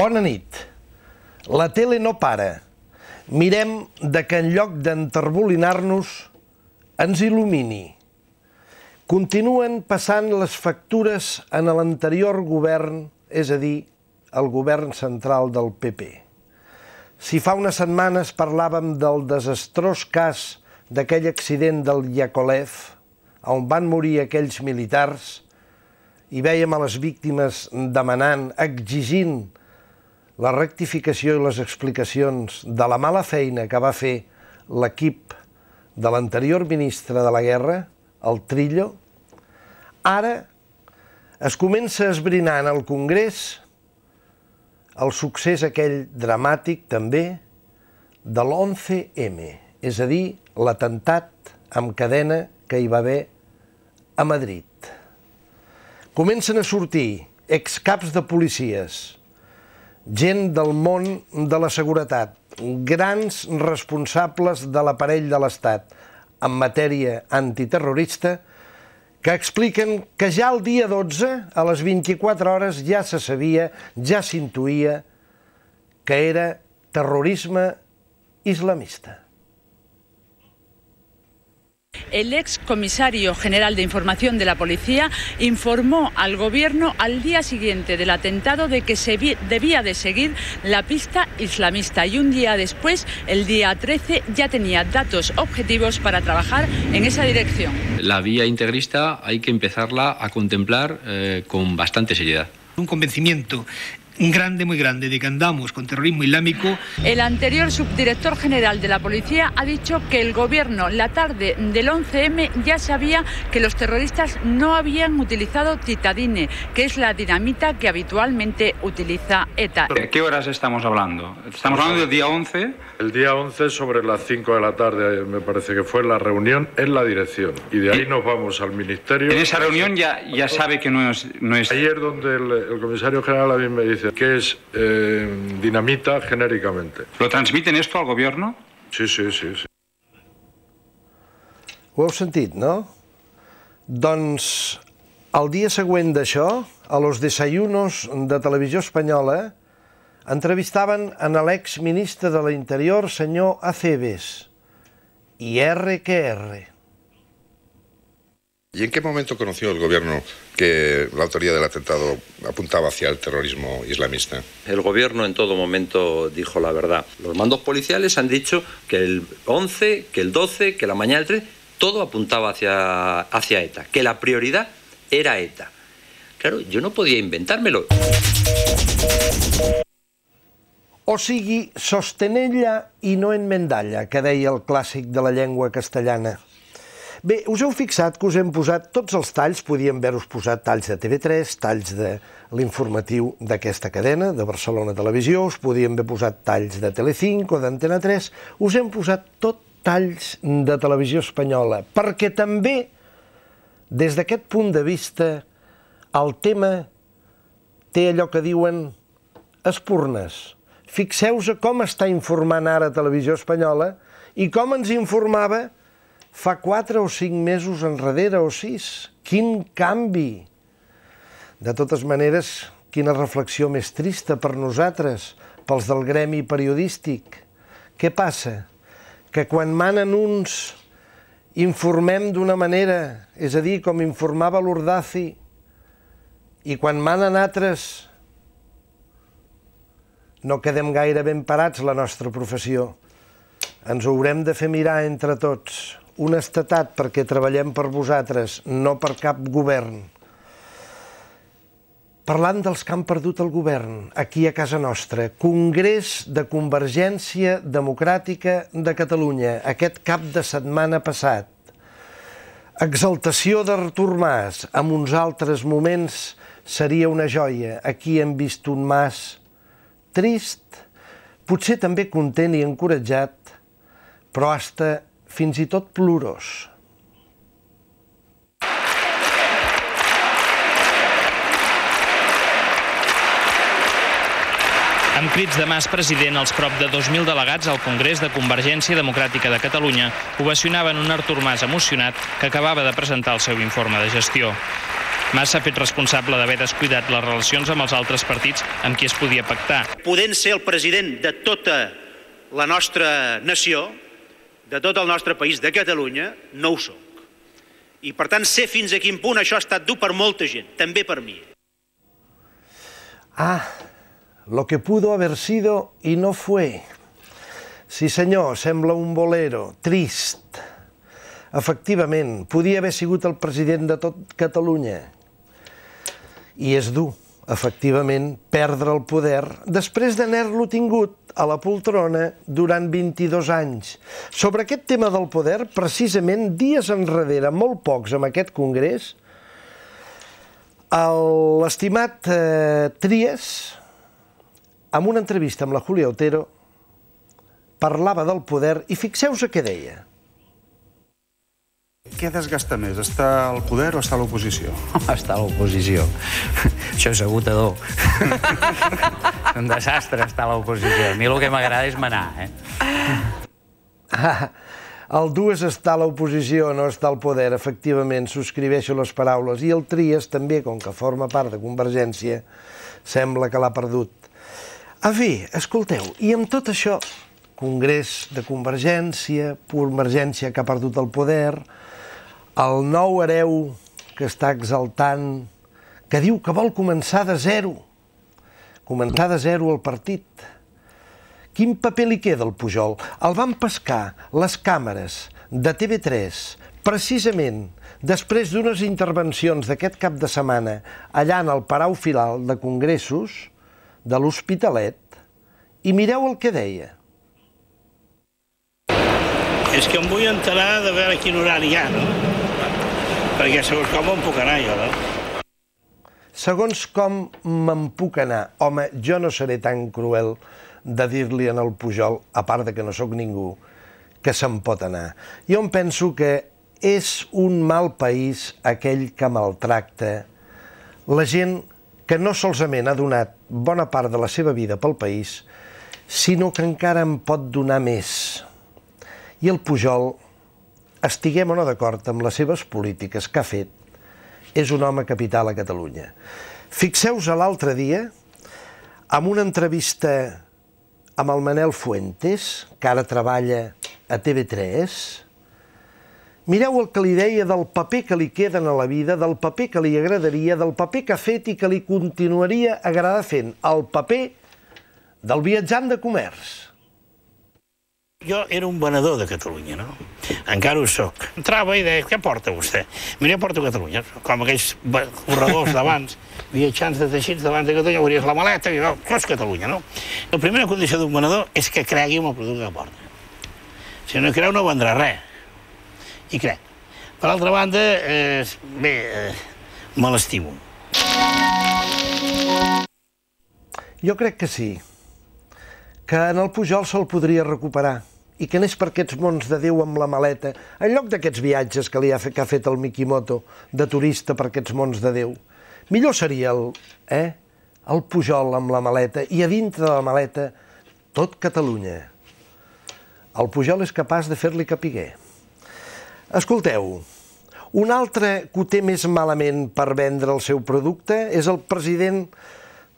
Bona nit. La tele no para. Mirem de que en lloc d'enterbolinar-nos ens il·lumini. Continuen passant les factures en l'anterior govern, és a dir, el govern central del PP. Si fa unes setmanes parlàvem del desastrós cas d'aquell accident del Yakolev, on van morir aquells militars, i vèiem a les víctimes demanant, exigint la rectificació i les explicacions de la mala feina que va fer l'equip de l'anterior ministre de la Guerra, el Trillo, ara es comença a esbrinar en el Congrés el succés aquell dramàtic també de l'11M, és a dir, l'atemptat amb cadena que hi va haver a Madrid. Comencen a sortir excaps de policies, gent del món de la seguretat, grans responsables de l'aparell de l'Estat en matèria antiterrorista, que expliquen que ja el dia 12, a les 24 hores, ja se sabia, ja s'intuïa que era terrorisme islamista. El ex comisario general de información de la policía informó al gobierno al día siguiente del atentado de que se debía de seguir la pista islamista y un día después, el día 13, ya tenía datos objetivos para trabajar en esa dirección. La vía integrista hay que empezarla a contemplar con bastante seriedad. Un convencimiento grande, muy grande, de que andamos con terrorismo islámico. El anterior subdirector general de la policía ha dicho que el gobierno, la tarde del 11M, ya sabía que los terroristas no habían utilizado titadine, que es la dinamita que habitualmente utiliza ETA. ¿De qué horas estamos hablando? Estamos hablando del día 11. El día 11 sobre las 5 de la tarde, me parece que fue la reunión en la dirección. Y de ahí nos vamos al ministerio. En esa reunión ya sabe que no es... Ayer donde el comisario general a mí me dice que es dinamita genéricamente. ¿Lo transmiten esto al gobierno? Sí. Ho heu sentit, no? Doncs el dia següent d'això, a los desayunos de Televisió Espanyola, entrevistaven a l'exministre de l'Interior, senyor Acebes, y R que R. ¿Y en qué momento conoció el gobierno que la autoría del atentado apuntaba hacia el terrorismo islamista? El gobierno en todo momento dijo la verdad. Los mandos policiales han dicho que el 11, que el 12, que la mañana del 13, todo apuntaba hacia ETA, que la prioridad era ETA. Claro, yo no podía inventármelo. O sigui, sostenella i no enmendalla, que deia el clàssic de la llengua castellana. Bé, us heu fixat que us hem posat tots els talls, podíem haver-us posat talls de TV3, talls de l'informatiu d'aquesta cadena, de Barcelona Televisió, us podíem haver posat talls de Telecinco o d'Antena 3, us hem posat tot talls de Televisió Espanyola, perquè també, des d'aquest punt de vista, el tema té allò que diuen espurnes. Fixeu-vos com està informant ara Televisió Espanyola i com ens informava fa 4 o 5 mesos enrere o 6. Quin canvi! De totes maneres, quina reflexió més trista per nosaltres, pels del gremi periodístic. Què passa? Que quan manen uns informem d'una manera, és a dir, com informava l'Urdaci, i quan manen altres no quedem gaire ben parats la nostra professió. Ens ho haurem de fer mirar entre tots. Honestedat, perquè treballem per vosaltres, no per cap govern. Parlant dels que han perdut el govern, aquí a casa nostra, Congrés de Convergència Democràtica de Catalunya, aquest cap de setmana passat. Exaltació d'Artur Mas, en uns altres moments seria una joia. Aquí hem vist un Mas trist, potser també content i encoratjat, però hasta fins i tot plorós. Amb crits de Mas president, els prop de 2.000 delegats al Congrés de Convergència Democràtica de Catalunya ovacionaven un Artur Mas emocionat que acabava de presentar el seu informe de gestió. Mas s'ha fet responsable d'haver descuidat les relacions amb els altres partits amb qui es podia pactar. Podent ser el president de tota la nostra nació, de tot el nostre país, de Catalunya, no ho soc. I, per tant, sé fins a quin punt això ha estat dur per molta gent, també per mi. Lo que pudo haber sido y no fue. Sí, senyor, sembla un bolero, trist. Efectivament, podia haver sigut el president de tot Catalunya. I és dur, efectivament, perdre el poder després d'haver-lo tingut a la poltrona durant 22 anys. Sobre aquest tema del poder, precisament, dies enrere, molt pocs amb aquest congrés, l'estimat Trias, en una entrevista amb la Julia Otero, parlava del poder i fixeu-vos què deia. Què desgasta més, estar al poder o estar a l'oposició? Estar a l'oposició. Això és agotador. És un desastre estar a l'oposició. A mi el que m'agrada és manar, El dur és estar a l'oposició, no estar al poder. Efectivament, subscriveixo les paraules. I el Trias també, com que forma part de Convergència, sembla que l'ha perdut. En fi, escolteu, i amb tot això, Congrés de Convergència, Convergència que ha perdut el poder, el nou hereu que està exaltant, que diu que vol començar de zero el partit. Quin paper li queda al Pujol? El van pescar les càmeres de TV3 precisament després d'unes intervencions d'aquest cap de setmana allà en el Palau Firal de Congressos de l'Hospitalet i mireu el que deia. És que em vull enterar de veure quin horari hi ha, no? Perquè segons com em puc anar jo, no? Segons com me'n puc anar. Home, jo no seré tan cruel de dir-li en el Pujol, a part de que no sóc ningú, que se'n pot anar. Jo em penso que és un mal país aquell que maltracta la gent que no solament ha donat bona part de la seva vida pel país, sinó que encara en pot donar més. I el Pujol, estiguem o no d'acord amb les seves polítiques que ha fet, és un home capital a Catalunya. Fixeu-vos l'altre dia, en una entrevista amb el Manel Fuentes, que ara treballa a TV3, mireu el que li deia del paper que li queden a la vida, del paper que li agradaria, del paper que ha fet i que li continuaria agradar fent, el paper del viatjant de comerç. Jo era un venedor de Catalunya, no? Encara ho soc. Entrava i deia, què porta vostè? Mira, porto Catalunya. Com aquells corredors d'abans, viatjants de teixits davant de Catalunya, obries la maleta i això és Catalunya, no? La primera condició d'un venedor és que cregui en el producte que porta. Si no creu, no vendrà res. I crec. Per altra banda, bé, me l'estimo. Jo crec que sí, que en el Pujol se'l podria recuperar i que anés per aquests mons de Déu amb la maleta, en lloc d'aquests viatges que ha fet el Mikimoto de turista per aquests mons de Déu. Millor seria el Pujol amb la maleta i a dintre de la maleta tot Catalunya. El Pujol és capaç de fer-li capiguer. Escolteu, un altre que ho té més malament per vendre el seu producte és el president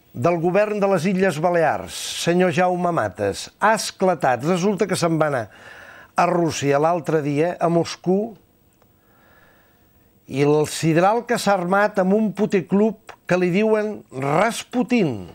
del govern de les Illes Balears, senyor Jaume Matas. Ha esclatat. Resulta que se'n va anar a Rússia l'altre dia, a Moscou, i el sidral que s'ha armat amb un puticlub que li diuen Rasputin.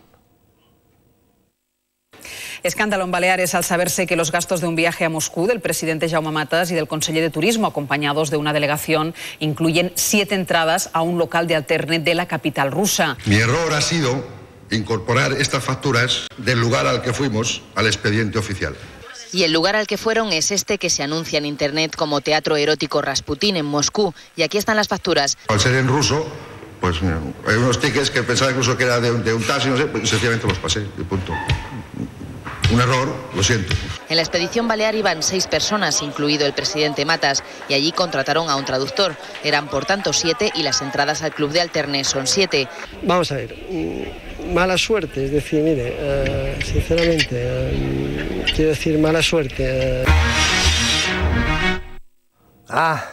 Escándalo en Baleares al saberse que los gastos de un viaje a Moscú del presidente Jaume Matas y del conseller de Turismo, acompañados de una delegación, incluyen 7 entradas a un local de alterne de la capital rusa. Mi error ha sido incorporar estas facturas del lugar al que fuimos al expediente oficial. Y el lugar al que fueron es este que se anuncia en internet como Teatro Erótico Rasputin en Moscú. Y aquí están las facturas. Al ser en ruso, pues hay unos tickets que pensaba incluso que era de un taxi, no sé, pues sencillamente los pasé, y punto. Un error, lo siento. En la expedición balear iban 6 personas, incluido el presidente Matas, y allí contrataron a un traductor. Eran por tanto 7 y las entradas al club de alterne son 7. Vamos a ver, mala suerte, es decir, mire, sinceramente, quiero decir mala suerte. Ah,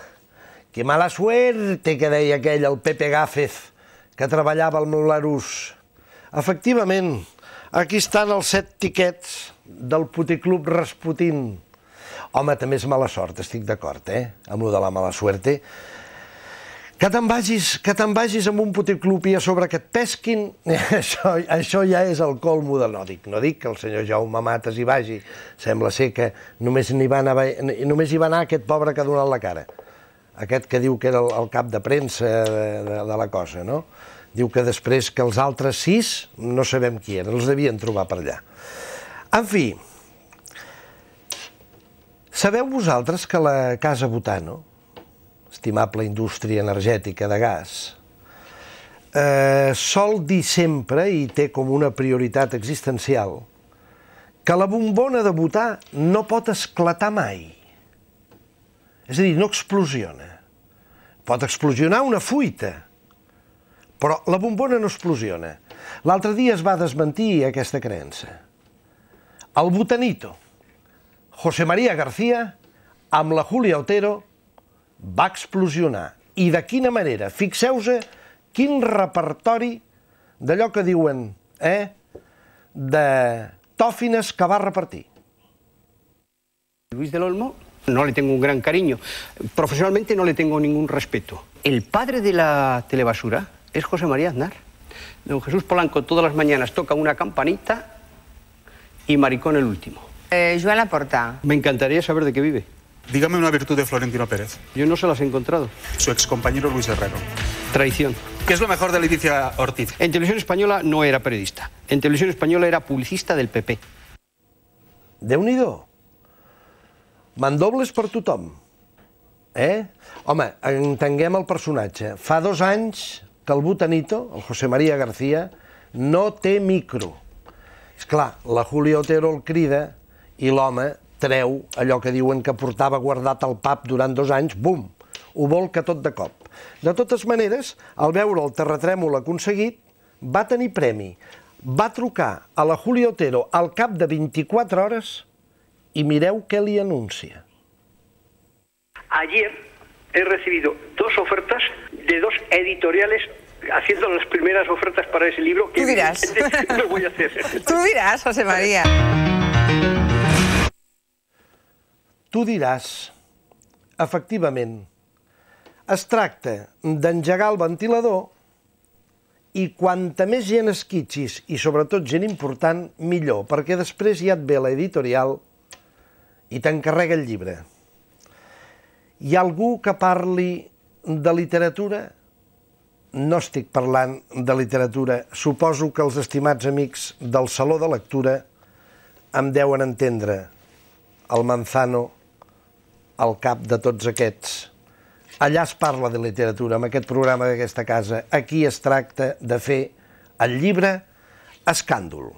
que mala suerte que deia aquell, el Pepe Gáfez, que treballava al Belarús. Efectivament, aquí estan els 7 tiquets del puticlub Rasputin. Home, també és mala sort, estic d'acord, amb lo de la mala suerte. Que te'n vagis amb un puticlub i a sobre que et pesquin, això ja és el colmo de... No dic que el senyor Jaume Matas hi vagi. Sembla ser que només hi va anar aquest pobre que ha donat la cara. Aquest que diu que era el cap de premsa de la cosa, no? Diu que després que els altres 6 no sabem qui eren, els devien trobar per allà. En fi, sabeu vosaltres que la Casa Butano, estimable indústria energètica de gas, sol dir sempre, i té com una prioritat existencial, que la bombona de butà no pot esclatar mai. És a dir, no explosiona. Pot explosionar una fuita, però la bombona no explosiona. L'altre dia es va desmentir aquesta creença. El butanito, José María García, amb la Julia Otero, va explosionar. I de quina manera? Fixeu-se quin repertori d'allò que diuen, de tòfines que va repartir. Luis del Olmo, no le tengo un gran cariño. Profesionalmente no le tengo ningún respeto. El padre de la telebasura es José María Aznar. Don Jesús Polanco todas las mañanas toca una campanita y Maricón el último. Joan Laporta. Me encantaría saber de qué vive. Dígame una virtud de Florentino Pérez. Yo no se las he encontrado. Su excompañero Luis Herrero. Traición. ¿Qué es lo mejor de Leticia Ortiz? En Televisión Española no era periodista. En Televisión Española era publicista del PP. Déu-n'hi-do. Mandobles per tothom. Home, entenguem el personatge. Fa 2 anys que el butanito, el José María García, no té micro. És clar, la Julia Otero el crida i l'home treu allò que diuen que portava guardat al pap durant 2 anys, bum, ho volca tot de cop. De totes maneres, al veure el terratrèmol aconseguit, va tenir premi. Va trucar a la Julia Otero al cap de 24 hores y mireu qué le anuncia. Ayer he recibido 2 ofertas de 2 editoriales haciendo las primeras ofertas para ese libro. Tú dirás. No voy a hacer. Tú dirás, José María. Tu diràs, efectivament, es tracta d'engegar el ventilador i quanta més gent esquitxis, i sobretot gent important, millor, perquè després ja et ve l'editorial i t'encarrega el llibre. Hi ha algú que parli de literatura? No estic parlant de literatura. Suposo que els estimats amics del Saló de Lectura em deuen entendre el Manzano al cap de tots aquests. Allà es parla de literatura, amb aquest programa d'aquesta casa. Aquí es tracta de fer el llibre escàndol.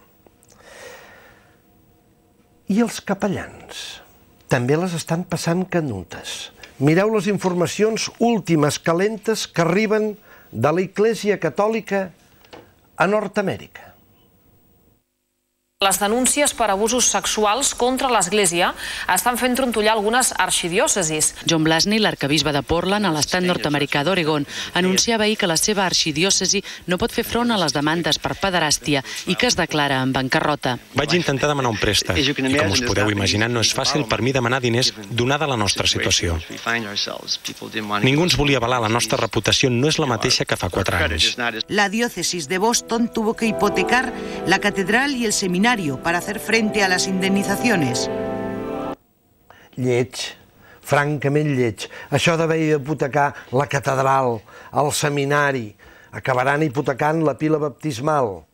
I els capellans també les estan passant canutes. Mireu les informacions últimes calentes que arriben de la Iglesia Catòlica a Nord-Amèrica. Les denúncies per abusos sexuals contra l'Església estan fent trontollar algunes arxidiòcesis. John Blasney, l'arquebisbe de Portland, a l'estat nord-americà d'Oregon, anunciava ahir que la seva arxidiòcesi no pot fer front a les demandes per pederàstia i que es declara en bancarrota. Vaig intentar demanar un préstec i, com us podeu imaginar, no és fàcil per mi demanar diners donada la nostra situació. Ningú ens volia avalar, la nostra reputació no és la mateixa que fa 4 anys. La diócesis de Boston tuvo que hipotecar la catedral y el seminario para hacer frente a las indemnizaciones. Lleig, francament lleig. Això d'haver d'hipotecar la catedral, el seminari, acabaran hipotecant la pila baptismal,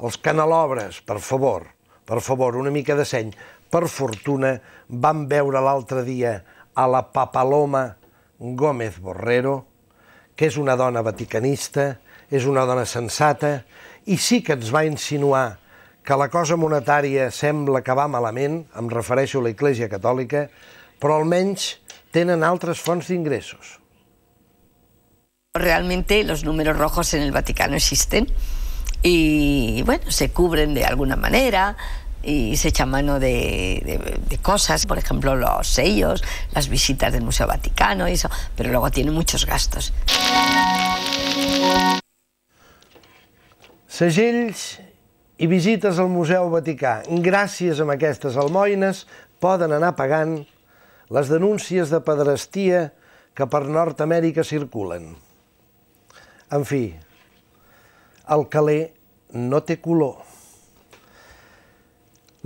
els canelobres, per favor, una mica de seny. Per fortuna, vam veure l'altre dia a la Papaloma Gómez Borrero, que és una dona vaticanista, és una dona sensata, i sí que ens va insinuar que la cosa monetària sembla que va malament, em refereixo a la Iglesia Catòlica, però almenys tenen altres fonts d'ingressos. Realmente los números rojos en el Vaticano existen y, bueno, se cubren de alguna manera y se echa mano de cosas, por ejemplo, los sellos, las visitas del Museo Vaticano y eso, pero luego tiene muchos gastos. Segells i visites al Museu Vaticà. Gràcies a aquestes almoines poden anar pagant les denúncies de pederastia que per Nord-Amèrica circulen. En fi, el caler no té color.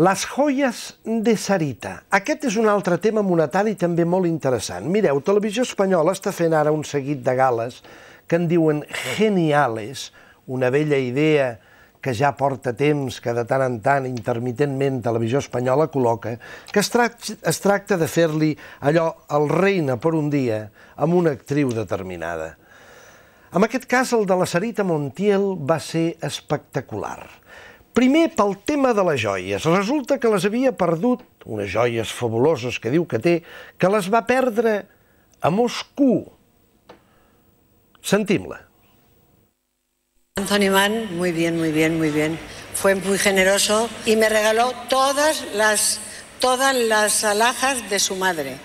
Les joies de Sarita. Aquest és un altre tema monetari també molt interessant. Mireu, Televisió Espanyola està fent ara un seguit de gales que en diuen geniales, una vella idea que ja porta temps, que de tant en tant, intermitentment, Televisió Espanyola col·loca, que es tracta de fer-li allò, el reina per un dia, amb una actriu determinada. En aquest cas, el de la Sarita Montiel va ser espectacular. Primer, pel tema de les joies. Resulta que les havia perdut, unes joies fabuloses que diu que té, que les va perdre a Moscou. Sentim-la. Anthony Mann, muy bien, muy bien, muy bien. Fue muy generoso y me regaló todas las alhajas de su madre.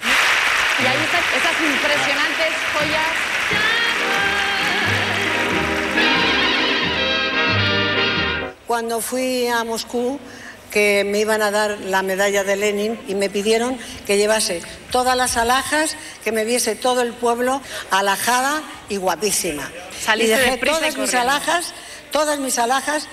Y ahí están esas impresionantes joyas. Cuando fui a Moscú, que me iban a dar la medalla de Lenin y me pidieron que llevase todas las alhajas, que me viese todo el pueblo alhajada y guapísima. Y dejé todas mis alhajas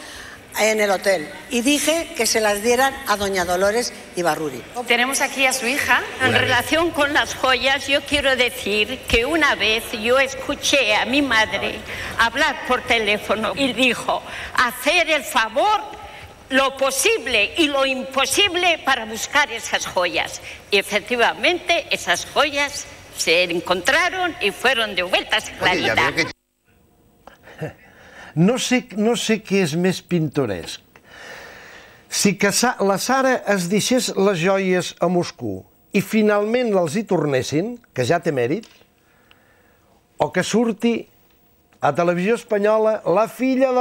en el hotel y dije que se las dieran a doña Dolores Ibarruri. Tenemos aquí a su hija. En relación con las joyas, yo quiero decir que una vez yo escuché a mi madre hablar por teléfono y dijo, hacer el favor, lo posible y lo imposible para buscar esas joyas. Y efectivamente esas joyas se encontraron y fueron devueltas a Clarita. No sé què és més pintoresc. Si la Sara es deixés les joies a Moscou i finalment els hi tornessin, que ja té mèrit, o que surti a Televisió Espanyola la filla de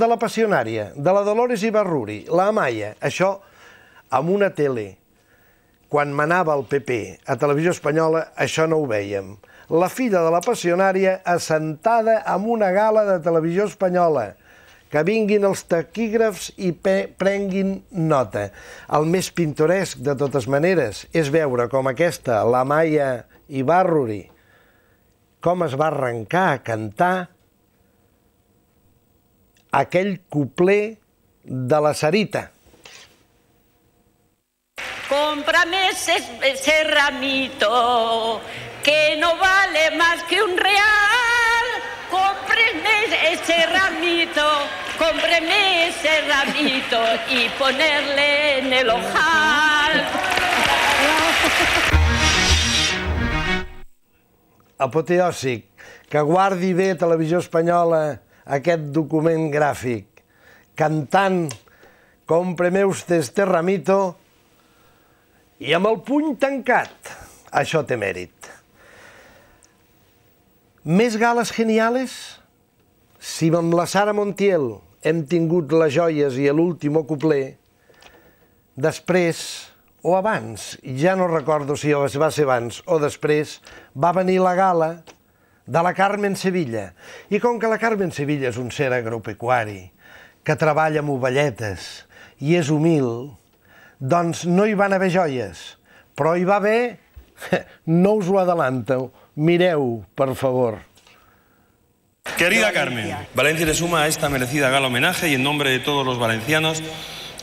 la passionària, de la Dolores Ibarruri, la Amaya, això amb una tele. Quan manava el PP a Televisió Espanyola, això no ho vèiem. La filla de la passionària assentada en una gala de Televisió Espanyola. Que vinguin els taquígrafs i prenguin nota. El més pintoresc, de totes maneres, és veure com aquesta, la Amaya Ibarruri, com es va arrencar a cantar aquell couplet de la Sarita. Cómprame ese ramito que no vale más que un real. Cómpreme ese ramito y ponerle en el ojal. Apoteòsic, que guardi bé Televisió Espanyola aquest document gràfic, cantant Cómpreme usted este ramito i amb el puny tancat. Això té mèrit. Més gales geniales? Si amb la Sara Montiel hem tingut les joies i l'último couplet, després, o abans, ja no recordo si va ser abans o després, va venir la gala de la Carmen Sevilla. I com que la Carmen Sevilla és un ser agropecuari, que treballa amb ovelletes i és humil, doncs no hi van haver joies, però hi va haver, no us ho adelanto, mireu, per favor. Querida Carmen, Valencia le suma a esta merecida gala homenaje y en nombre de todos los valencianos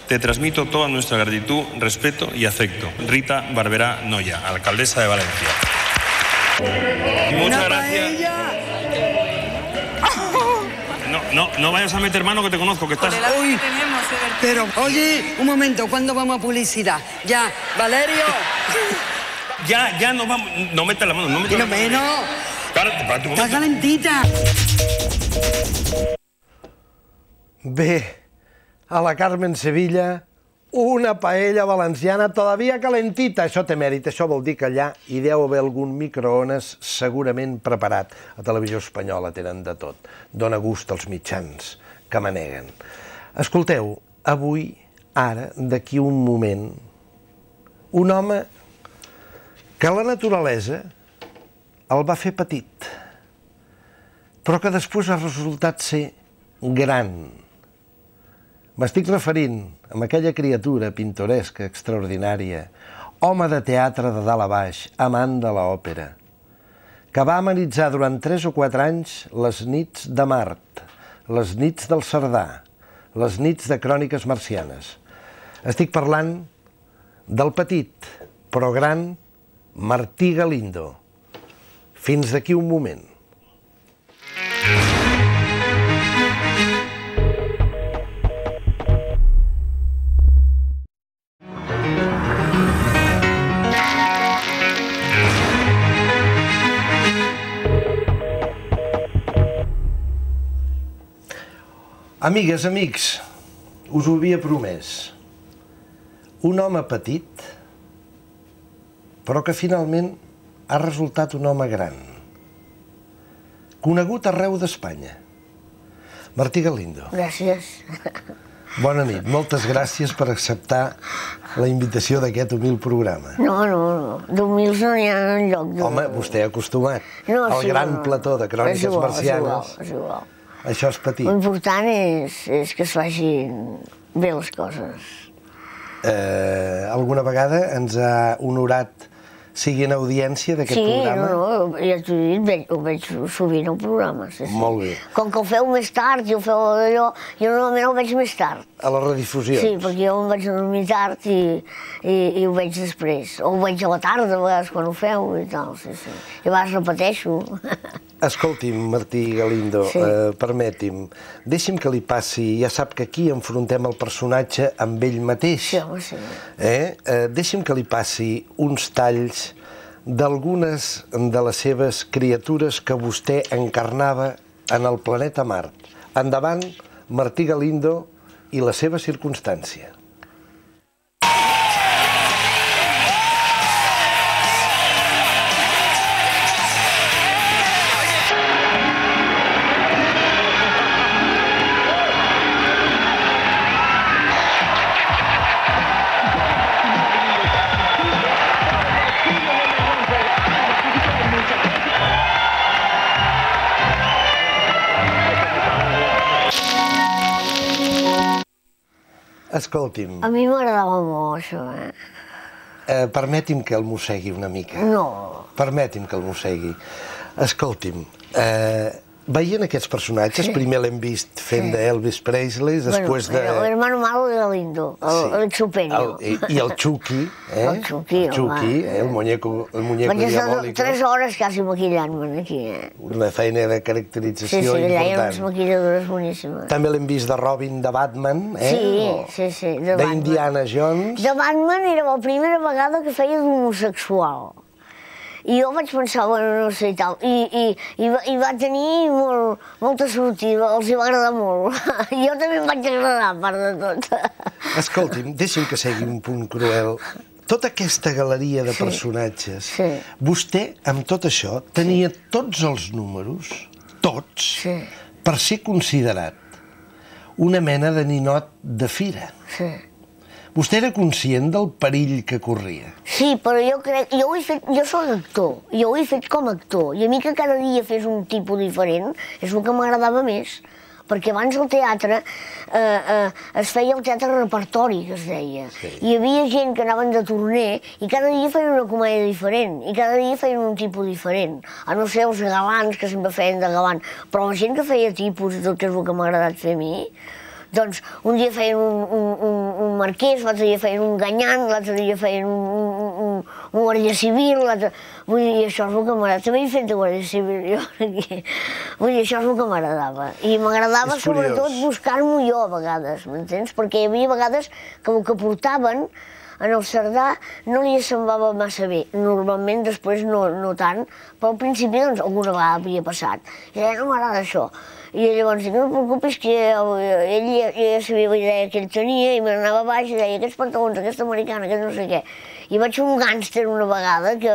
te transmito toda nuestra gratitud, respeto y afecto. Rita Barberá Noya, alcaldesa de Valencia. Muchas gracias. No vayas a meter mano que te conozco, que estás... Uy, pero oye, un momento, ¿cuándo vamos a publicidad? Ya, Valerio. Ya nos vamos... No metas la mano, no metas la mano. Menos. Está calentita. Bé, a la Carmen Sevilla, una paella valenciana todavía calentita. Això té mèrit, això vol dir que allà hi deu haver algun microones segurament preparat. A Televisió Espanyola tenen de tot. Dóna gust als mitjans que maneguen. Escolteu, avui, ara, d'aquí un moment, un home que la naturalesa el va fer petit, però que després ha resultat ser gran, M'estic referint a aquella criatura pintoresca, extraordinària, home de teatre de dalt a baix, amant de l'òpera, que va amenitzar durant 3 o 4 anys les nits de Mart, les nits del Cerdà, les nits de cròniques marcianes. Estic parlant del petit, però gran, Martí Galindo. Fins d'aquí un moment. Amigues, amics, us ho havia promès. Un home petit, però que finalment ha resultat un home gran. Conegut arreu d'Espanya. Martí Galindo. Gràcies. Bona nit. Moltes gràcies per acceptar la invitació d'aquest humil programa. No. D'humils no n'hi ha enlloc. Home, vostè ha acostumat al gran plató de cròniques marcianes. És igual. Això és petit. L'important és que es facin bé les coses. Alguna vegada ens ha honorat sigui en audiència d'aquest programa? Sí, ja t'ho he dit, ho veig sovint al programa. Molt bé. Com que ho feu més tard i ho feu allò, jo normalment ho veig més tard. A les redifusions? Sí, perquè jo em vaig dormir tard i ho veig després. O ho veig a la tarda, a vegades, quan ho feu i tal, sí. I a vegades repeteixo. Escolti'm, Martí Galindo, permeti'm, deixi'm que li passi, ja sap que aquí enfrontem el personatge amb ell mateix. Sí, home, sí. Deixi'm que li passi uns talls d'algunes de les seves criatures que vostè encarnava en el planeta Mart. Endavant, Martí Galindo i la seva circumstància. Escolti'm... A mi m'agradava molt, això, Permeti'm que el mossegui una mica. No. Permeti'm que el mossegui. Escolti'm, veient aquests personatges, primer l'hem vist fent d'Elvis Presley, després de... El hermano malo de Galindo, el Chupeño. I el Chucky, El Chucky, el muñeco diabólico. Vaig estar 3 hores quasi maquillant-me'n aquí, Una feina de caracterització important. Sí, allà hi ha unes maquilladores boníssimes. També l'hem vist de Robin, de Batman, Sí, d'Indiana Jones. De Batman era la primera vegada que feia d'homosexual. I jo vaig pensar, bueno, no sé i tal, i va tenir molta sortida, els hi va agradar molt. Jo també em vaig agradar, a part de tot. Escolti'm, deixi'm que segui un punt cruel. Tota aquesta galeria de personatges, vostè, amb tot això, tenia tots els números, tots, per ser considerat una mena de ninot de fira. Sí. Vostè era conscient del perill que corria? Sí, però jo crec... Jo soc actor, jo ho he fet com a actor, i a mi que cada dia fes un tipus diferent és el que m'agradava més, perquè abans el teatre es feia el teatre repertori, que es deia. Hi havia gent que anaven de torner i cada dia feien una comèdia diferent, i cada dia feien un tipus diferent. A no ser els galants, que sempre feien de galant, però la gent que feia tipus, tot és el que m'ha agradat fer a mi, doncs un dia feien un marquès, l'altre dia feien un ganyant, l'altre dia feien un guàrdia civil, vull dir, això és el que m'agradava. També he fet de guàrdia civil, jo, aquí. Vull dir, això és el que m'agradava. I m'agradava sobretot buscar-m'ho jo a vegades, m'entens? Perquè hi havia vegades que el que portaven en el Cerdà no li semblava massa bé. Normalment després no tant, però al principi doncs alguna vegada havia passat. I deia, no m'agrada això. I llavors, no et preocupis, que ell ja sabia la idea que ell tenia i me n'anava a baix i deia, aquests pantalons, aquesta americana, aquest no sé què. I vaig fer un gàngster una vegada que,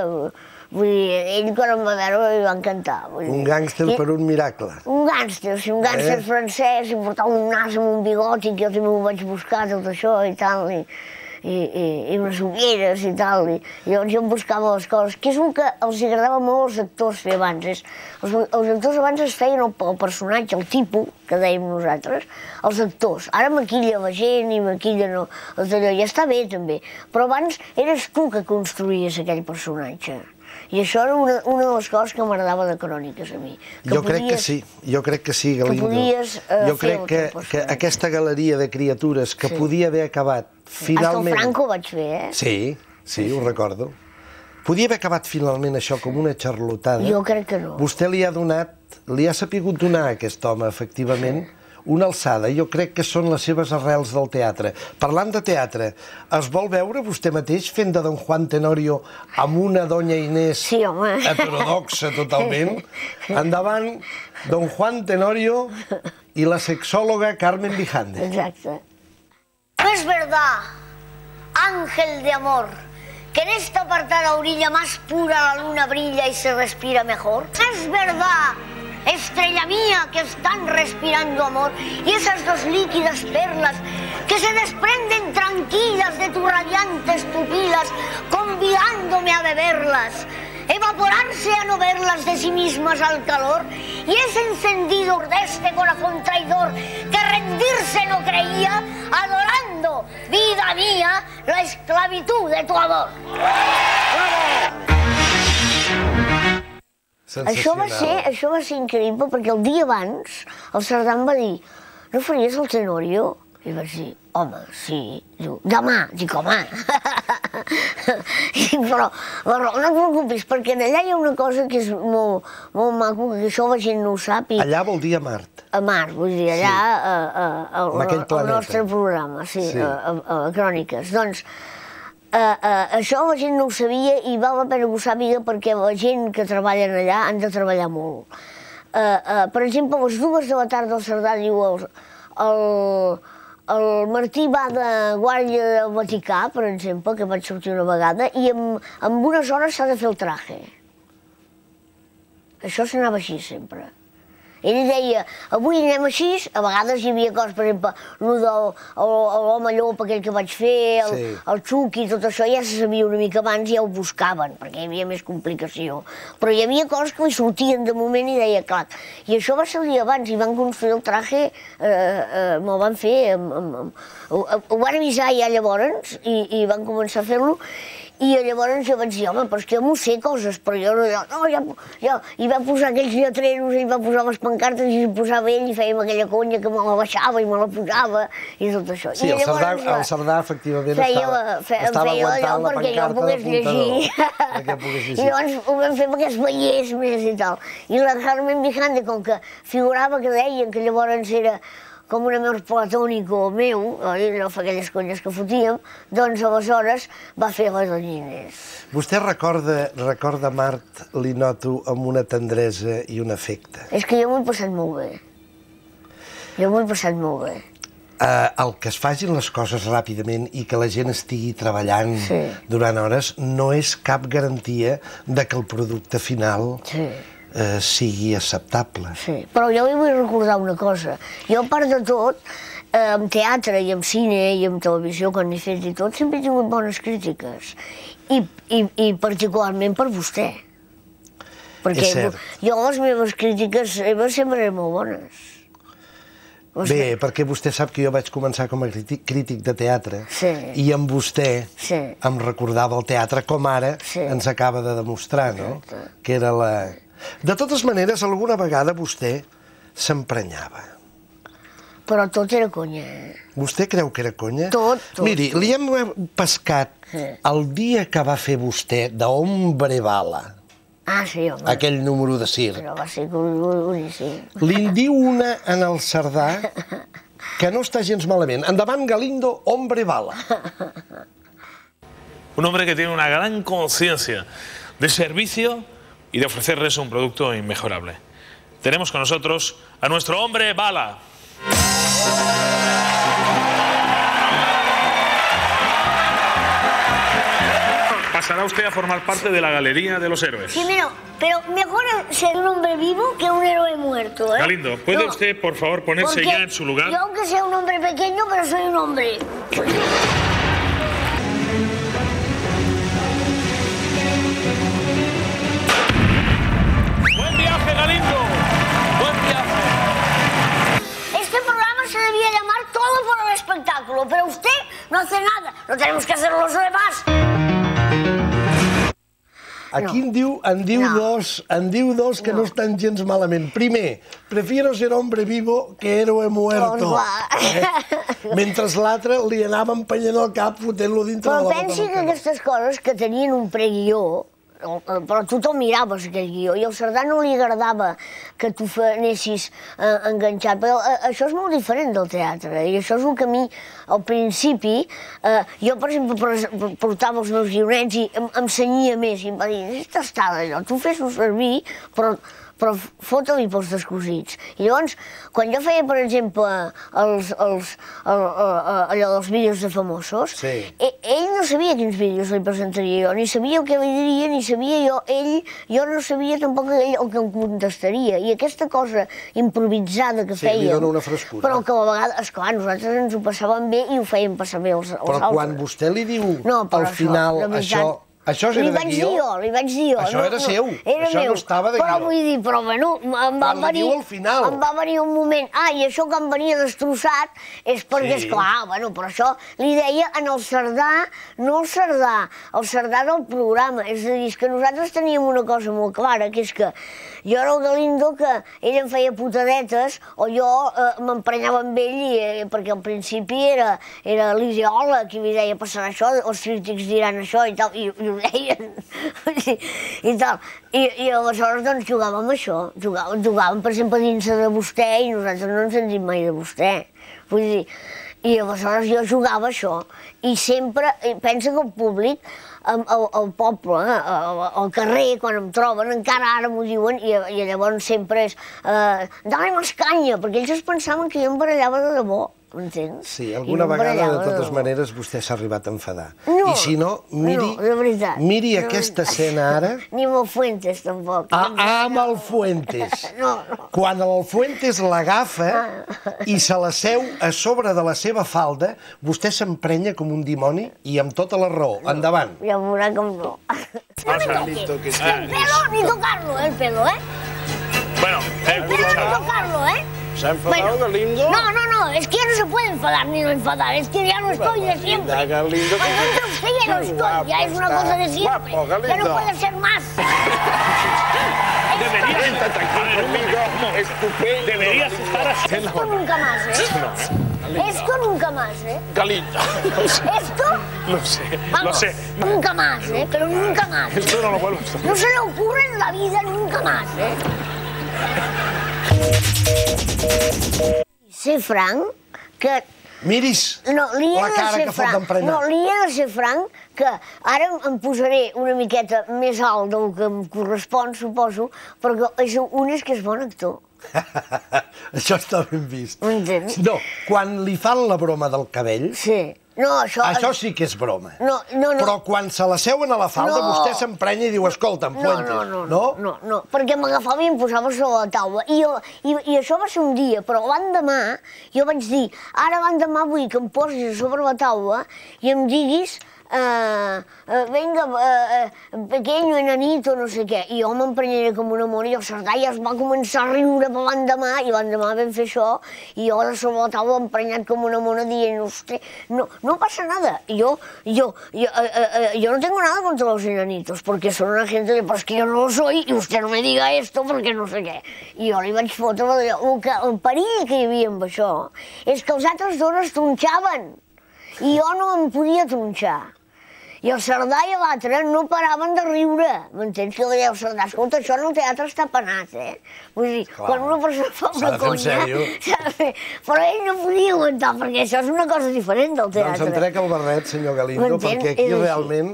vull dir, ell quan em va veure em va encantar. Un gàngster per un miracle. Un gàngster, o sigui, un gàngster francès, i portava un nas amb un bigoti, que jo també ho vaig buscar, tot això i tal. i unes ulleres i tal, i llavors jo em buscava les coses, que és el que els agradava molt als actors fer abans. Els actors abans es feien el personatge, el tipus, que dèiem nosaltres, els actors. Ara maquilla la gent i maquilla no, ja està bé també, però abans eres tu que construïes aquell personatge. I això era una de les coses que m'agradava de Cròniques a mi. Jo crec que sí, Galindo. Jo crec que aquesta galeria de criatures que podia haver acabat finalment... Hasta el Franco vaig fer, eh? Sí, ho recordo. Podia haver acabat finalment això com una xarlotada. Jo crec que no. Vostè li ha sapigut donar a aquest home, efectivament, una alçada. Jo crec que són les seves arrels del teatre. Parlant de teatre, es vol veure vostè mateix fent de Don Juan Tenorio amb una doña Inés heterodoxa totalment? Endavant, Don Juan Tenorio y la sexóloga Carmen Vijande. Exacto. No es verdad, ángel de amor, que en esta apartada orilla más pura la luna brilla y se respira mejor. Es verdad, estrella mía, que están respirando amor, y esas dos líquidas perlas que se desprenden tranquilas de tus radiantes pupilas, convidándome a beberlas, evaporarse a no verlas de sí mismas al calor, y ese encendido de este corazón traidor que rendirse no creía, adorando, vida mía, la esclavitud de tu amor. Això va ser increïble perquè el dia abans el Cerdà em va dir no faries el Tenorio? I vaig dir, home, sí. Diu, demà. Dic, home. Però no et preocupis, perquè allà hi ha una cosa que és molt maco, que això la gent no ho sap. Allà vol dir a Mart. A Mart, vull dir, allà al nostre programa, sí, a Cròniques. Doncs això la gent no ho sabia i val la pena que ho sàpiga perquè la gent que treballa allà han de treballar molt. Per exemple, a les 2 de la tarda el Cerdà diu el Martí va de guàrdia del Vaticà, per exemple, que vaig sortir una vegada, i en unes hores s'ha de fer el traje. Això s'anava així sempre. Ell deia, avui anem així, a vegades hi havia coses, per exemple, l'home llop aquell que vaig fer, el Xuqui, tot això ja se sabia una mica abans, ja ho buscaven, perquè hi havia més complicació. Però hi havia coses que li sortien de moment i deia, clar. I això va ser el dia abans, i van construir el traje, me'l van fer, ho van avisar ja llavors, i van començar a fer-lo, i llavors jo vaig dir, home, però és que jo m'ho sé coses, però jo no, i va posar aquells lletreros, i va posar les pancartes, i s'hi posava ell, i fèiem aquella conya que me la baixava i me la posava, i tot això. Sí, el Cerdà, efectivament, estava aguantant la pancarta de puntador. I llavors ho vam fer perquè es veiés més i tal. I la Carmen Vijande, com que figurava que deien que llavors era com un amor platònico meu, no fa aquelles conyes que fotíem, doncs aleshores va fer la doña Inés. Vostè recorda Mart, li noto, amb una tendresa i un afecte. És que jo m'ho he passat molt bé. El que es facin les coses ràpidament i que la gent estigui treballant durant hores no és cap garantia de que el producte final sigui acceptable. Sí, però jo li vull recordar una cosa. Jo, a part de tot, en teatre i en cine i en televisió, quan he fet i tot, sempre he tingut bones crítiques. I particularment per vostè. Perquè jo les meves crítiques sempre eren molt bones. Bé, perquè vostè sap que jo vaig començar com a crític de teatre i amb vostè em recordava el teatre com ara ens acaba de demostrar, no? Que era la... De totes maneres, alguna vegada vostè s'emprenyava. Però tot era conya. Vostè creu que era conya? Tot. Miri, li hem pescat el dia que va fer vostè d'Hombre Bala. Ah, sí, home. Aquell número de circ. Però va ser boníssim. Li'n diu una en el Cerdà que no està gens malament. Endavant, Galindo, Hombre Bala. Un hombre que tiene una gran conciencia de servicio y de ofrecerles un producto inmejorable. Tenemos con nosotros a nuestro Hombre Bala. Pasará usted a formar parte de la Galería de los Héroes. Sí, pero mejor ser un hombre vivo que un héroe muerto, ¿eh? Galindo, ¿puede usted, por favor, ponerse ya en su lugar? Yo, aunque sea un hombre pequeño, pero soy un hombre. algo, pero usted no hace nada. No tenemos que hacer los demás. Aquí en diu dos que no estan gens malament. Primer, prefiero ser hombre vivo que héroe muerto. Mentre l'altre li anava empenyent el cap fotent-lo dintre de la boca. Però pensi que aquestes coses que tenien un preguió, però tu te'l miraves, aquell guió, i al Cerdà no li agradava que tu anessis enganxat, però això és molt diferent del teatre, i això és el que a mi, al principi, jo, per exemple, portava els meus guionets i em cenyia més, i em va dir, és tastada allò, tu fes-ho servir, però fota-li pels descosits. I llavors, quan jo feia, per exemple, allò dels vídeos de famosos, ell no sabia quins vídeos li presentaria jo, ni sabia el que li diria, ni sabia jo no sabia tampoc ell el que em contestaria. I aquesta cosa improvisada que fèiem... Sí, li dona una frescura. Però que a vegades, esclar, nosaltres ens ho passàvem bé i ho fèiem passar bé als altres. Però quan vostè li diu al final això... Això era de guió? Li vaig dir jo. Això era seu, això no estava de guió. Però vull dir, bueno, em va venir un moment, i això que em venia destrossat és perquè, esclar, bueno, però això li deia en el Cerdà, no el Cerdà del programa, és a dir, que nosaltres teníem una cosa molt clara, que és que jo era el Galindo que ell em feia putadetes o jo m'emprenyava amb ell perquè al principi era l'ideòleg i li deia passarà això, els crítics diran això i tal, i ho deien i tal. I aleshores doncs jugàvem això, jugàvem per exemple dins de vostè i nosaltres no ens en dit mai de vostè. Vull dir, i aleshores jo jugava això i sempre, pensa que el públic, al poble, al carrer, quan em troben, encara ara m'ho diuen i llavors sempre és dale més canya, perquè ells es pensaven que jo em barallava de debò, m'entens? Sí, alguna vegada, de totes maneres, vostè s'ha arribat a enfadar. I si no, miri aquesta escena ara... Ni amb el Fuentes, tampoc. Amb el Fuentes. Quan el Fuentes l'agafa i se la seu a sobre de la seva falda, vostè s'emprenya com un dimoni i amb tota la raó. Endavant. Ja veurà com no. Ni tocarlo, el pelo, ¿eh? Bueno, ni tocarlo, ¿eh? ¿Se ha enfadado Galindo? No, es que ya no se puede enfadar ni no enfadar, es que ya no estoy de siempre. Galindo, usted ya no estoy, ya es una cosa de siempre. Ya no puede ser más. Deberías estar así. Esto nunca más, ¿eh? Esto nunca más, ¿eh? Galindo. ¿Esto? Lo sé. Nunca más, ¿eh? Pero nunca más. Esto no lo vuelvo a hacer. No se le ocurre en la vida nunca más, ¿eh? Ser franc, que... Miris la cara que fot d'emprenyar. No, li he de ser franc, que ara em posaré una miqueta més alt del que em correspon, suposo, perquè és un que és bon actor. Això està ben vist. M'entens? No, quan li fan la broma del cabell... Sí. No, això sí que és broma. No. Però quan se la seuen a la falda, vostè s'emprenya i diu, escolta'm, Fuentes. No, perquè m'agafava i em posava sobre la taula. I això va ser un dia, però l'endemà jo vaig dir, ara l'endemà vull que em posis sobre la taula i em diguis venga, pequeño, enanito, no sé què. I jo m'emprenyaré com una mona i el Cerdà ja es va començar a riure per l'endemà i l'endemà vam fer això i jo de sobre la taula emprenyat com una mona dient, hosti, no pasa nada. Yo no tengo nada contra los enanitos porque son una gente de, pues que yo no lo soy y usted no me diga esto porque no sé què. I jo li vaig fotre el perill que hi havia amb això és que els altres dos es tronxaven i jo no em podia tronxar. I el Cerdà i l'altre no paraven de riure. M'entens? Que deia el Cerdà, escolta, això en el teatre està penat, eh? Vull dir, quan una persona fa una conya... Però ell no podia aguantar, perquè això és una cosa diferent del teatre. Doncs em trec el barret, senyor Galindo, perquè aquí realment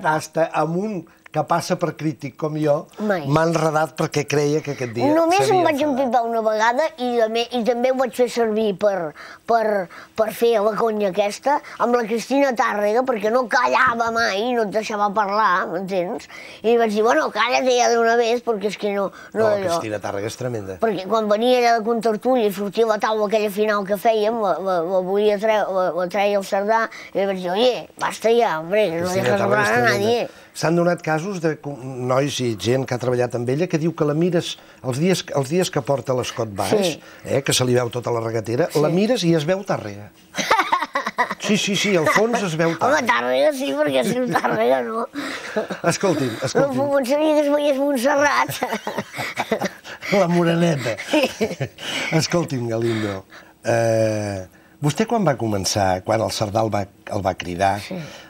hasta amb un que passa per crític com jo, m'ha enredat perquè creia que aquest dia només em vaig empipar una vegada i també ho vaig fer servir per fer la conya aquesta amb la Cristina Tàrrega, perquè no callava mai, no et deixava parlar, m'entens? I vaig dir, bueno, cállate ja d'una vez, perquè és que no... No, la Cristina Tàrrega és tremenda. Perquè quan venia allà de contertúlia i sortia la taula aquella final que fèiem, la treia el Cerdà, i vaig dir, oye, basta ja, hombre, no dejas hablar a nadie. S'han donat casos de nois i gent que ha treballat amb ella que diu que la mires els dies que porta l'Scott Bass, que se li veu tota la regatera, la mires i es veu Tàrrega. Sí, al fons es veu Home, Tàrrega sí, perquè si no Tàrrega no. Escolti'm. No sabia que es veiés Montserrat. La moreneta. Escolti'm, Galindo, vostè quan va començar, quan el Cerdà el va cridar,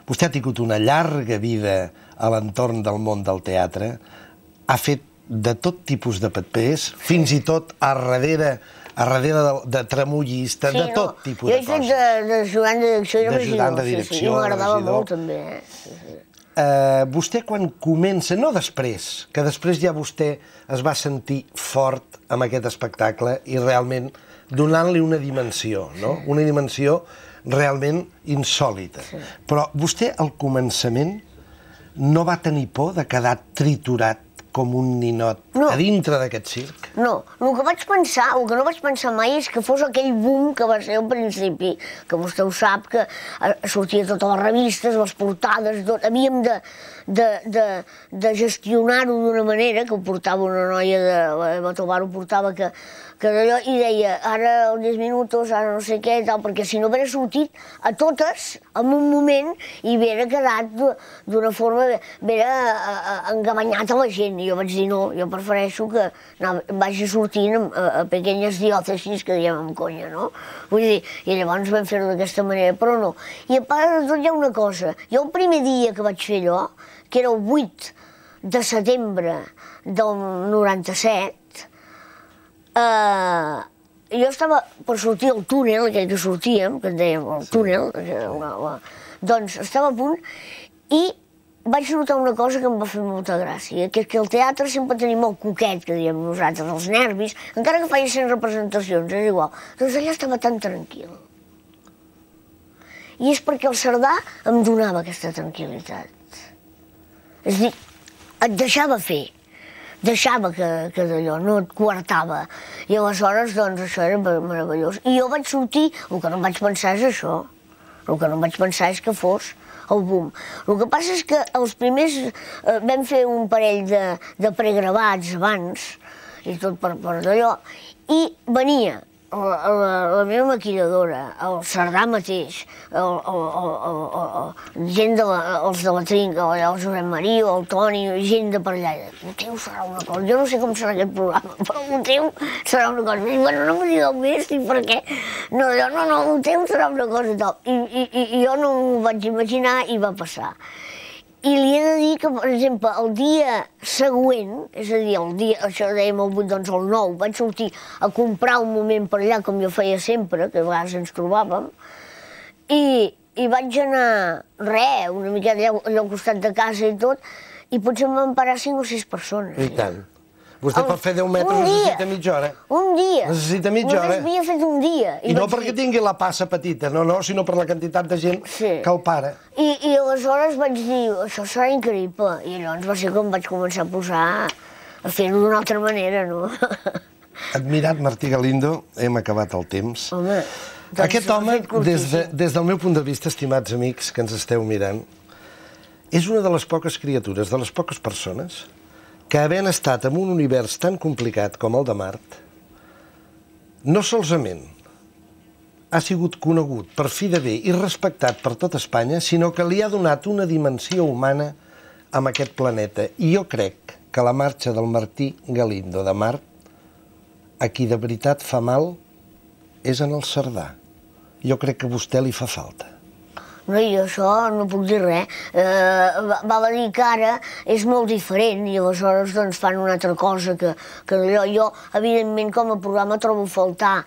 vostè ha tingut una llarga vida a l'entorn del món del teatre, ha fet de tot tipus de papers, fins i tot a darrere de tramullista, de tot tipus de coses. Jo he fet d'ajudant de direcció i d'ajudant de direcció, i m'agradava molt també. Vostè quan comença, no després, que després ja vostè es va sentir fort amb aquest espectacle i realment donant-li una dimensió, no? Una dimensió realment insòlita. Però vostè al començament no va tenir por de quedar triturat com un ninot a dintre d'aquest circ? No, el que no vaig pensar mai és que fos aquell boom que va ser al principi, que vostè ho sap, que sortia a totes les revistes, les portades, tot. Havíem de gestionar-ho d'una manera, que ho portava una noia de la Tobar, ho portava que d'allò, i deia, ara els 10 minuts, ara no sé què, tal, perquè si no hauria sortit a totes en un moment i hauria quedat d'una forma, hauria engabanyat a la gent. I jo vaig dir, no, jo prefereixo que vagi sortint a pequeñes diòcesis, que diem amb conya, no? Vull dir, i llavors vam fer-ho d'aquesta manera, però no. I a part de tot hi ha una cosa, jo el primer dia que vaig fer allò, que era el 8 de setembre del 97, jo estava per sortir al túnel, aquell que sortíem, que en dèiem el túnel, doncs estava a punt i vaig notar una cosa que em va fer molta gràcia, que és que el teatre sempre tenim el coquet, que diem nosaltres, els nervis, encara que faci 100 representacions, és igual. Doncs allà estava tan tranquil. I és perquè el Cerdà em donava aquesta tranquil·litat. És a dir, et deixava fer. Deixava que d'allò, no et coartava. I aleshores, doncs, això era meravellós. I jo vaig sortir, el que no vaig pensar és això. El que no vaig pensar és que fos el boom. El que passa és que els primers vam fer un parell de pregravats abans, i tot per d'allò, i venia la meva maquilladora, el Cerdà mateix, gent els de la Trinca, el Josep Maria, el Toni, gent de per allà. El teu serà una cosa, jo no sé com serà aquest programa, però el teu serà una cosa. Bueno, no m'ho digueu més, ni per què. No, el teu serà una cosa i tal. I jo no m'ho vaig imaginar i va passar. I li he de dir que, per exemple, el dia següent, és a dir, el dia, això dèiem el 8, doncs el 9, vaig sortir a comprar un moment per allà, com jo feia sempre, que a vegades ens trobàvem, i vaig anar, una mica allà al costat de casa i tot, i potser em van parar 5 o 6 persones. I tant. Vostè per fer 10 metres necessita mitja hora. Un dia. Necessita mitja hora. Vostè havia fet un dia. I no perquè tingui la passa petita, no, sinó per la quantitat de gent que el para. I aleshores vaig dir, això serà increïble. I llavors va ser com vaig començar a posar a fer-ho d'una altra manera, no? Admirat Martí Galindo, hem acabat el temps. Home, aquest home, des del meu punt de vista, estimats amics que ens esteu mirant, és una de les poques criatures, de les poques persones que havent estat en un univers tan complicat com el de Mart, no solament ha sigut conegut per fi de bé i respectat per tot Espanya, sinó que li ha donat una dimensió humana a aquest planeta. I jo crec que la marxa del Martí Galindo de Mart, a qui de veritat fa mal, és en el Cerdà. Jo crec que a vostè li fa falta. No, jo això no puc dir res. Val a dir que ara és molt diferent i aleshores doncs fan una altra cosa que d'allò. Jo, evidentment, com a programa trobo a faltar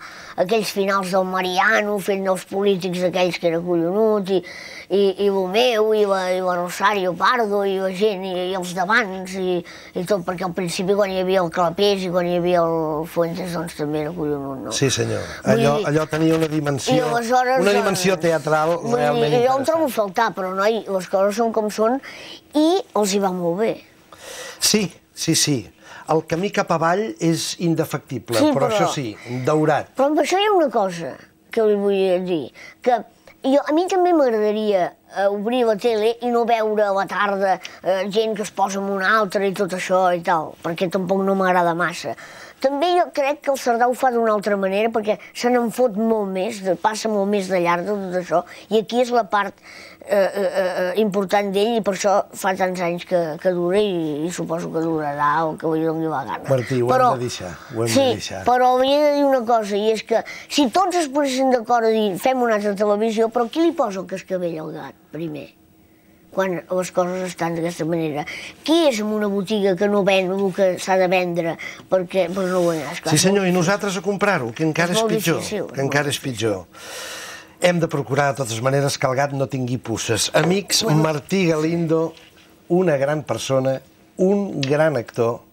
aquells finals del Mariano fent dels polítics aquells que era collonut i el meu, i la Rosario Pardo, i la gent, i els d'abans, i tot, perquè al principi quan hi havia el Clapés i quan hi havia el Fuentes, doncs també era collonut, no? Sí, senyor. Allò tenia una dimensió teatral realment interessant. Jo ho trobo a faltar, però noi, les coses són com són i els hi va molt bé. Sí. El camí cap avall és indefectible, però això sí, daurat. Però amb això hi ha una cosa que li vull dir, que a mi també m'agradaria obrir la tele i no veure a la tarda gent que es posa amb una altra i tot això i tal, perquè tampoc no m'agrada massa. també jo crec que el Cerdà ho fa d'una altra manera, perquè se n'en fot molt més, passa molt més de llarg de tot això, i aquí és la part important d'ell, i per això fa tants anys que dura, i suposo que durarà, o que ho doni la gana. Martí, ho hem de deixar, ho hem de deixar. Sí, però hauria de dir una cosa, i és que si tots es posessin d'acord a dir fem una altra televisió, però qui li posa el cascavell al gat, primer? Quan les coses estan d'aquesta manera. Qui és en una botiga que no ven el que s'ha de vendre perquè no ho veuràs? Sí senyor, i nosaltres a comprar-ho, que encara és pitjor. Que encara és pitjor. Hem de procurar de totes maneres que el gat no tingui puces. Amics, Martí Galindo, una gran persona, un gran actor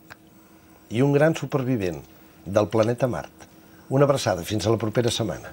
i un gran supervivent del planeta Mart. Una abraçada, fins a la propera setmana.